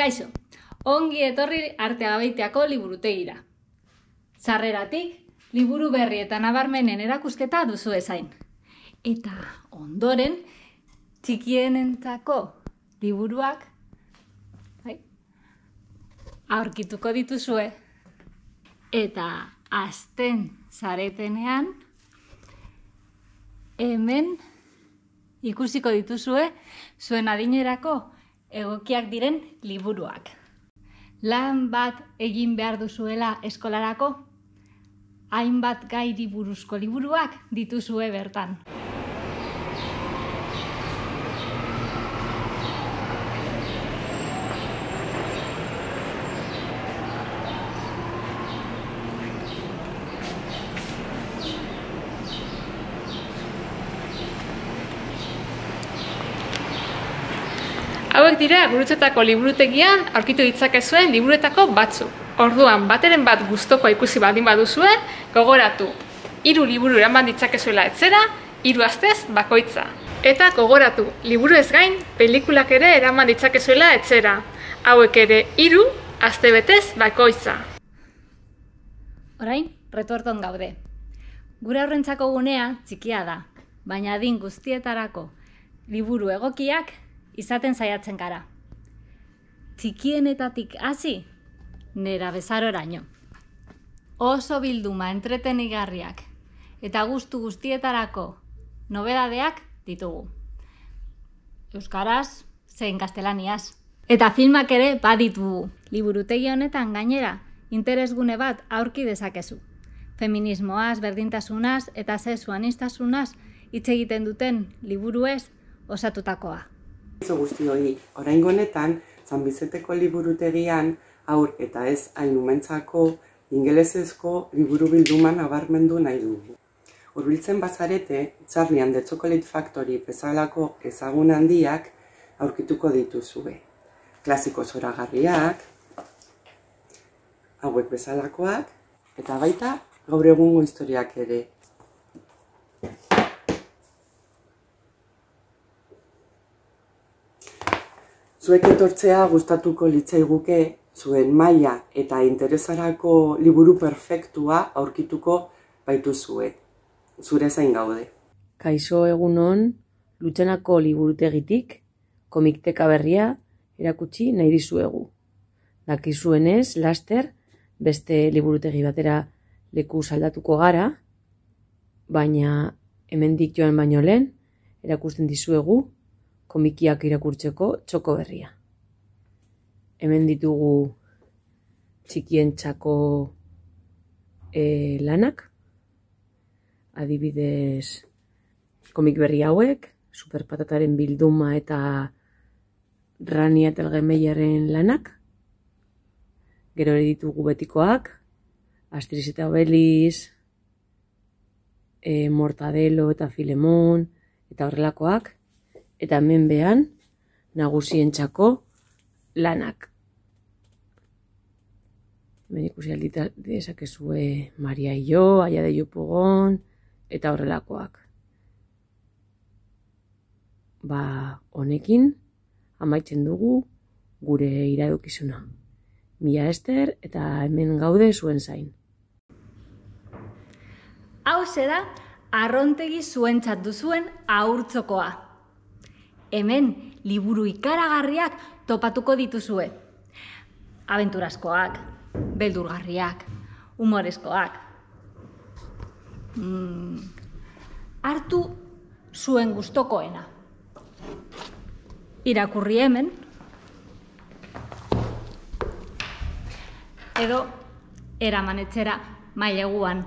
Kaixo, ongi etorri Arteagabeitiako liburutegira. Sarreratik, liburu berri eta nabarmenen erakusketa duzu ezain. Eta ondoren, txikienentzako liburuak aurkituko dituzue. Eta hasten zaretenean, hemen ikusiko dituzue zuen adinerako egokiak diren liburuak. Lan bat egin behar duzuela eskolarako, hainbat gairi buruzko liburuak dituzue bertan. Hauek dira Gurutzetako liburutegian aurkitu ditzakezuen liburuetako batzuk. Orduan, bateren bat gustukoa ikusi baldin baduzue, gogoratu 3 liburu eraman ditzakezuela etxera, 3 astez bakoitza. Eta gogoratu, liburu ez gain, pelikulak ere eraman ditzakezuela etxera. Hauek ere 3 astebetez bakoitza. Orain, retorton gaude. Gure aurrentzako gunea txikia da, baina adin guztietarako liburu egokiak izaten saiatzen gara. Txikienetatik hasi, nerabezaroraino. Oso bilduma entretenigarriak eta gustu guztietarako nobedadeak ditugu. Euskaraz, zein gaztelaniaz. Eta filmak ere baditugu. Liburutegi honetan gainera, interesgune bat aurki dezakezu. Feminismoaz, berdintasunaz eta sexu aniztasunaz hitz egiten duten liburuez osatutakoa. Guztioi, oraingo honetan, San Bizeteko liburutegian haur eta ez hain umentzako ingelesezko liburu bilduma nabarmendu nahi dugu. Hurbiltzen bazarete, Charlie and the Chocolate Factory bezalako ezagun handiak aurkituko dituzue. Klasiko zoragarriak, hauek bezalakoak, eta baita gaur egungo historiak ere. Zuek etortzea gustatuko litzaiguke zuen maila eta interesarako liburu perfektua aurkituko baituzue. Zure zain gaude. Kaixo egunon, Lutxanako liburutegitik, komikteka berria erakutsi nahi dizuegu. Dakizuenez, laster, beste liburutegi batera leku saldatuko gara, baina hemendik joan baino lehen, erakusten dizuegu komikiak irakurtzeko txoko berria. Hemen ditugu txikientzako lanak, adibidez komik berri hauek, Superpatataren bilduma eta Rania eta Elgemeiaren lanak. Gero ere ditugu betikoak, Asterix eta Obelix, Mortadelo eta Filemon eta horrelakoak. Eta hemen behan, nagusientzako lanak. Hemen ikusi dezakezue Maria Io, Aia de Jupugon, eta horrelakoak. Honekin, amaitzen dugu gure iradokizuna. Mila esker eta hemen gaude zuen zain. Hau da arrontegi zuentzat duzuen haurtzokoa. Hemen liburu ikaragarriak topatuko dituzue. Abenturazkoak, beldurgarriak, humorezkoak. Hartu zuen gustokoena. Irakurri hemen. Edo eraman etxera maileguan.